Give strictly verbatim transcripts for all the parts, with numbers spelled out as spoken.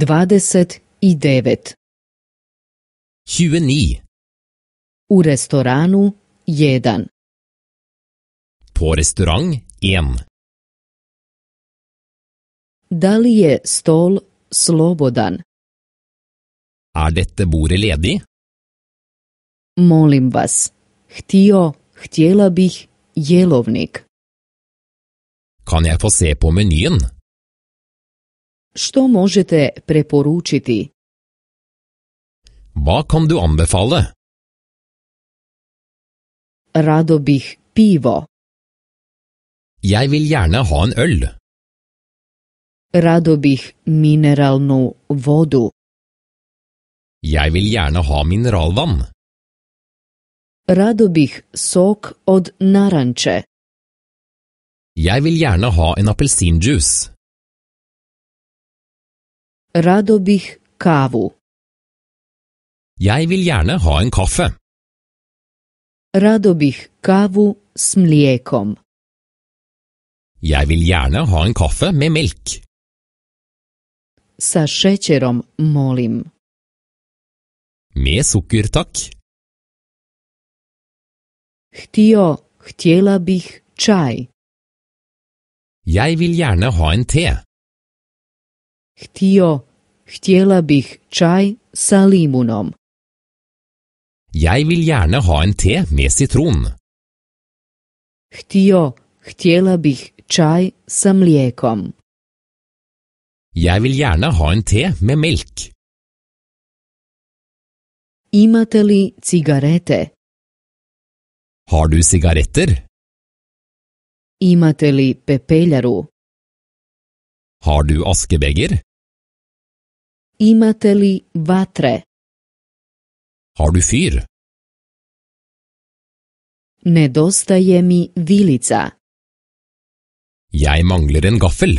dvadeset devet. tjueni. U restoranu jedan. På restaurang en. Da li je stol slobodan? Er dette bordet ledig? Molim vas, htio, htjela bih jelovnik. Kan jeg få se på menyen? Što možete preporučiti? Hva kan du anbefale? Rado bih pivo. Jeg vil gjerne ha en øl. Rado bih mineralnu vodu. Jeg vil gjerne ha mineralvann. Rado bih sok od naranče. Jeg vil gjerne ha en appelsinjuice. Rado bih kavu. Jeg vil gjerne ha en kaffe. Rado bih kavu s mlijekom. Jeg vil gjerne ha en kaffe med melk. Sa šećerom, molim. Med sukker, takk. Htio, htjela bih čaj. Jeg vil gjerne ha en te. Htio, htjela bih čaj sa limunom. Jeg vil gjerne ha en te med citron. Htio, htjela bih čaj sa mlijekom. Jeg vil gjerne ha en te med melk. Imate li cigarete? Har du sigaretter? Imate li pepeljaru? Har du askebeger? Imate li vatre? Har du fyr? Nedostaje mi vilica. Jeg mangler en gaffel.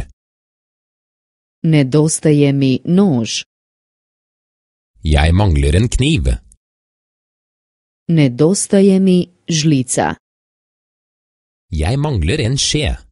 Nedostaje mi nož. Jeg mangler en kniv. Nedostaje mi žlica. Jeg mangler en skje.